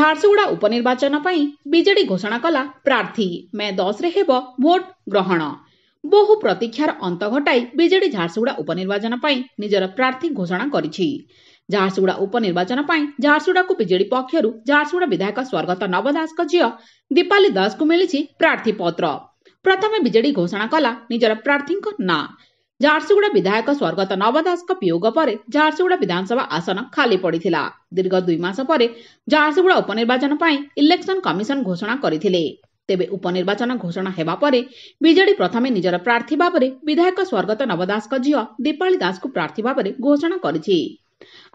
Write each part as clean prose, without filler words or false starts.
ଝାରସୁଗୁଡ଼ା ଉପନିର୍ବାଚନ ପାଇଁ ବିଜେଡି ଘୋଷଣା କଲା ପ୍ରାର୍ଥୀ। ମେ 10ରେ ହେବ ଭୋଟ ଗ୍ରହଣ। ବହୁ ପ୍ରତୀକ୍ଷାର ଅନ୍ତ ଘଟାଇ ବିଜେଡି ଝାରସୁଗୁଡ଼ା ଉପନିର୍ବାଚନ ପାଇଁ ନିଜର ପ୍ରାର୍ଥୀ ଘୋଷଣା କରିଛି। ଝାରସୁଗୁଡ଼ା ଉପନିର୍ବାଚନ ପାଇଁ ଝାରସୁଗୁଡ଼ାକୁ ବିଜେଡି ପକ୍ଷରୁ ଝାରସୁଗୁଡ଼ା ବିଧାୟକ ସ୍ୱର୍ଗତ ନବ ଦାସଙ୍କ ଝିଅ ଦୀପାଲି ଦାସଙ୍କୁ ମିଳିଛି ପ୍ରାର୍ଥୀପତ୍ର। ପ୍ରଥମେ ବିଜେଡି ଘୋଷଣା କଲା ନିଜର ପ୍ରାର୍ଥୀଙ୍କ ନାଁ। ଝାରସୁଗୁଡ଼ା ବିଧାୟକ ସ୍ୱର୍ଗତ ନବ ଦାସଙ୍କ ବିୟୋଗ ପରେ ଝାରସୁଗୁଡ଼ା ବିଧାନସଭା ଆସନ ଖାଲି ପଡ଼ିଥିଲା। ଦୀର୍ଘ 2 ମାସ ପରେ ଝାରସୁଗୁଡ଼ା ଉପନିର୍ବାଚନ ପାଇଁ ଇଲେକ୍ସନ କମିଶନ ଘୋଷଣା କରିଥିଲେ। ତେବେ ଉପନିର୍ବାଚନ ଘୋଷଣା ହେବା ପରେ ବିଜେଡି ପ୍ରଥମେ ନିଜର ପ୍ରାର୍ଥୀ ଭାବରେ ବିଧାୟକ ସ୍ୱର୍ଗତ ନବ ଦାସଙ୍କ ଝିଅ ଦୀପାଳି ଦାସଙ୍କୁ ପ୍ରାର୍ଥୀ ଭାବରେ ଘୋଷଣା କରିଛି।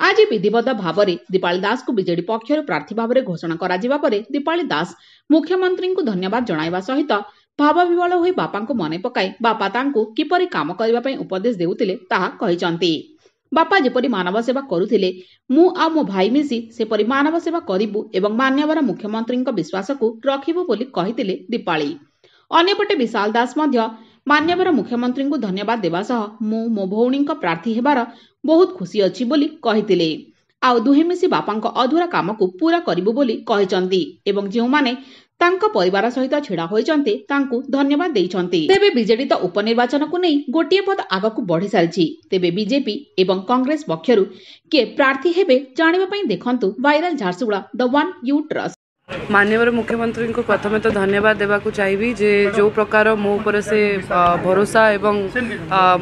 ଆଜି ବିଧିବଦ୍ଧ ଭାବରେ ଦୀପାଳି ଦାସଙ୍କୁ ବିଜେଡି ପକ୍ଷରୁ ପ୍ରାର୍ଥୀ ଭାବରେ ଘୋଷଣା କରାଯିବା ପରେ ଦୀପାଳି ଦାସ ମୁଖ୍ୟମନ୍ତ୍ରୀଙ୍କୁ ଧନ୍ୟବାଦ ଜଣାଇବା ସହିତ ଭାବବିହ୍ୱଳ ହୋଇ ବାପାଙ୍କୁ ମନେ ପକାଇ ବାପା ତାଙ୍କୁ କିପରି କାମ କରିବା ପାଇଁ ଉପଦେଶ ଦେଉଥିଲେ ତାହା କହିଛନ୍ତି। ବାପା ଯେପରି ମାନବ ସେବା କରୁଥିଲେ, ମୁଁ ଆଉ ମୋ ଭାଇ ମିଶି ସେପରି ମାନବ ସେବା କରିବୁ ଏବଂ ମାନ୍ୟବର ମୁଖ୍ୟମନ୍ତ୍ରୀଙ୍କ ବିଶ୍ୱାସକୁ ରଖିବୁ ବୋଲି କହିଥିଲେ ଦୀପାଳି। ଅନ୍ୟପଟେ ବିଶାଲ ଦାସ ମଧ୍ୟ ମାନ୍ୟବର ମୁଖ୍ୟମନ୍ତ୍ରୀଙ୍କୁ ଧନ୍ୟବାଦ ଦେବା ସହ ମୁଁ ମୋ ଭଉଣୀଙ୍କ ପ୍ରାର୍ଥୀ ହେବାର ବହୁତ ଖୁସି ଅଛି ବୋଲି କହିଥିଲେ। ଆଉ ଦୁହେଁ ମିଶି ବାପାଙ୍କ ଅଧୁରା କାମକୁ ପୂରା କରିବୁ ବୋଲି କହିଛନ୍ତି ଏବଂ ଯେଉଁମାନେ ତାଙ୍କ ପରିବାର ସହିତ ଛିଡ଼ା ହୋଇଛନ୍ତି ତାଙ୍କୁ ଧନ୍ୟବାଦ ଦେଇଛନ୍ତି। ତେବେ ବିଜେଡି ତ ଉପନିର୍ବାଚନକୁ ନେଇ ଗୋଟିଏ ପଦ ଆଗକୁ ବଢ଼ି ସାରିଛି। ତେବେ ବିଜେପି ଏବଂ କଂଗ୍ରେସ ପକ୍ଷରୁ କିଏ ପ୍ରାର୍ଥୀ ହେବେ ଜାଣିବା ପାଇଁ ଦେଖନ୍ତୁ viral Jharsuguda the one you trust. ମାନ୍ୟବର ମୁଖ୍ୟମନ୍ତ୍ରୀଙ୍କୁ ପ୍ରଥମେ ତ ଧନ୍ୟବାଦ ଦେବାକୁ ଚାହିଁବି ଯେ ଯେଉଁ ପ୍ରକାର ମୋ ଉପରେ ସେ ଭରସା ଏବଂ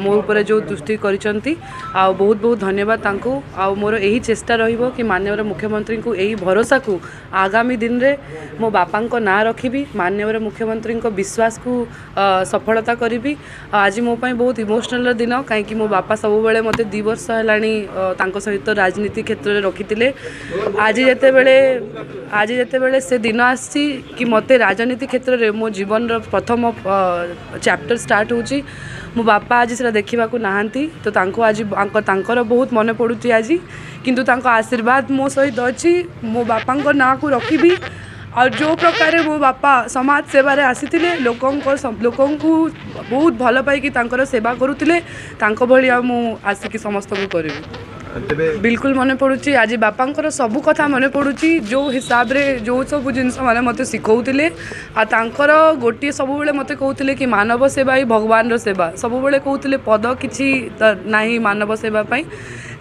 ମୋ ଉପରେ ଯେଉଁ ଦୃଷ୍ଟି କରିଛନ୍ତି, ଆଉ ବହୁତ ବହୁତ ଧନ୍ୟବାଦ ତାଙ୍କୁ। ଆଉ ମୋର ଏହି ଚେଷ୍ଟା ରହିବ କି ମାନ୍ୟବର ମୁଖ୍ୟମନ୍ତ୍ରୀଙ୍କୁ ଏହି ଭରସାକୁ ଆଗାମୀ ଦିନରେ ମୋ ବାପାଙ୍କ ନାଁ ରଖିବି, ମାନ୍ୟବର ମୁଖ୍ୟମନ୍ତ୍ରୀଙ୍କ ବିଶ୍ୱାସକୁ ସଫଳତା କରିବି। ଆଜି ମୋ ପାଇଁ ବହୁତ ଇମୋସନାଲର ଦିନ, କାହିଁକି ମୋ ବାପା ସବୁବେଳେ ମୋତେ 2 ବର୍ଷ ହେଲାଣି ତାଙ୍କ ସହିତ ରାଜନୀତି କ୍ଷେତ୍ରରେ ରଖିଥିଲେ। ଆଜି ଯେତେବେଳେ ସେ ଦିନ ଆସିଛି କି ମୋତେ ରାଜନୀତି କ୍ଷେତ୍ରରେ ମୋ ଜୀବନର ପ୍ରଥମ ଚାପ୍ଟର ଷ୍ଟାର୍ଟ ହେଉଛି, ମୋ ବାପା ଆଜି ସେଟା ଦେଖିବାକୁ ନାହାନ୍ତି, ତ ତାଙ୍କୁ ଆଜି ତାଙ୍କର ବହୁତ ମନେ ପଡ଼ୁଛି ଆଜି। କିନ୍ତୁ ତାଙ୍କ ଆଶୀର୍ବାଦ ମୋ ସହିତ ଅଛି। ମୋ ବାପାଙ୍କ ନାଁକୁ ରଖିବି ଆଉ ଯେଉଁ ପ୍ରକାରେ ମୋ ବାପା ସମାଜ ସେବାରେ ଆସିଥିଲେ, ଲୋକଙ୍କୁ ବହୁତ ଭଲ ପାଇକି ତାଙ୍କର ସେବା କରୁଥିଲେ, ତାଙ୍କ ଭଳି ଆଉ ମୁଁ ଆସିକି ସମସ୍ତଙ୍କୁ କରିବି। ତେବେ ବିଲକୁଲ ମନେ ପଡ଼ୁଛି। ଆଜି ବାପାଙ୍କର ସବୁ କଥା ମନେ ପଡ଼ୁଛି, ଯେଉଁ ହିସାବରେ ଯେଉଁ ସବୁ ଜିନିଷ ମାନେ ମୋତେ ଶିଖଉଥିଲେ। ଆଉ ତାଙ୍କର ଗୋଟିଏ ସବୁବେଳେ ମୋତେ କହୁଥିଲେ କି ମାନବ ସେବା ହିଁ ଭଗବାନର ସେବା। ସବୁବେଳେ କହୁଥିଲେ ପଦ କିଛି ନାହିଁ ମାନବ ସେବା ପାଇଁ।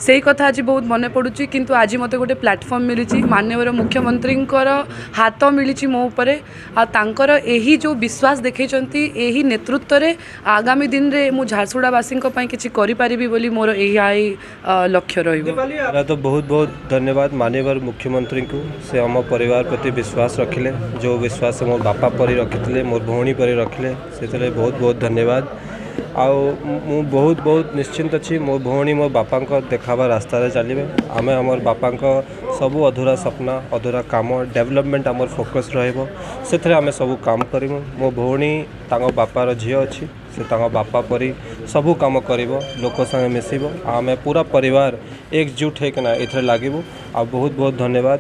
ସେଇ କଥା ଆଜି ବହୁତ ମନେ ପଡ଼ୁଛି। କିନ୍ତୁ ଆଜି ମୋତେ ଗୋଟେ ପ୍ଲାଟଫର୍ମ ମିଳିଛି, ମାନ୍ୟବର ମୁଖ୍ୟମନ୍ତ୍ରୀଙ୍କର ହାତ ମିଳିଛି ମୋ ଉପରେ, ଆଉ ତାଙ୍କର ଏହି ଯେଉଁ ବିଶ୍ୱାସ ଦେଖେଇଛନ୍ତି, ଏହି ନେତୃତ୍ୱରେ ଆଗାମୀ ଦିନରେ ମୁଁ ଝାରସୁଗୁଡ଼ାବାସୀଙ୍କ ପାଇଁ କିଛି କରିପାରିବି ବୋଲି ମୋର ଏହା ହିଁ ଲକ୍ଷ୍ୟ ରହିବ। ତ ବହୁତ ବହୁତ ଧନ୍ୟବାଦ ମାନ୍ୟବର ମୁଖ୍ୟମନ୍ତ୍ରୀଙ୍କୁ। ସେ ଆମ ପରିବାର ପ୍ରତି ବିଶ୍ୱାସ ରଖିଲେ, ଯେଉଁ ବିଶ୍ୱାସ ମୋ ବାପା ପରି ରଖିଥିଲେ, ମୋ ଭଉଣୀ ପରି ରଖିଲେ, ସେଥିରେ ବହୁତ ବହୁତ ଧନ୍ୟବାଦ। ଆଉ ମୁଁ ବହୁତ ବହୁତ ନିଶ୍ଚିନ୍ତ ଅଛି, ମୋ ଭଉଣୀ ମୋ ବାପାଙ୍କ ଦେଖାବା ରାସ୍ତାରେ ଚାଲିବେ। ଆମେ ଆମର ବାପାଙ୍କ ସବୁ ଅଧୁରା ସ୍ୱପ୍ନ, ଅଧୁରା କାମ, ଡେଭଲପମେଣ୍ଟ ଆମର ଫୋକସ୍ ରହିବ, ସେଥିରେ ଆମେ ସବୁ କାମ କରିବୁ। ମୋ ଭଉଣୀ ତାଙ୍କ ବାପାର ଝିଅ ଅଛି, ସେ ତାଙ୍କ ବାପା ପରି ସବୁ କାମ କରିବ, ଲୋକ ସାଙ୍ଗେ ମିଶିବ। ଆଉ ଆମେ ପୁରା ପରିବାର ଏକଜୁଟ ହେଇକିନା ଏଥିରେ ଲାଗିବୁ। ଆଉ ବହୁତ ବହୁତ ଧନ୍ୟବାଦ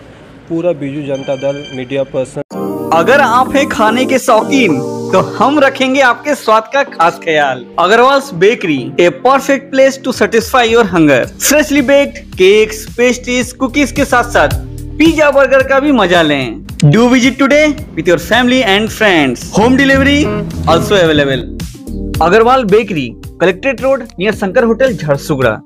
पूरा बीजू जनता दल, मीडिया पर्सन। अगर आप हैं खाने के शौकीन, तो हम रखेंगे आपके स्वाद का खास ख्याल। Agarwals bakery, a perfect place to satisfy your hunger। Freshly baked cakes, pastries, cookies के साथ साथ पिज्जा, बर्गर का भी मजा लें। Do visit today with your family and friends। Home delivery also available। Agarwal bakery, collectorate road, near Shankar hotel, Jharsuguda.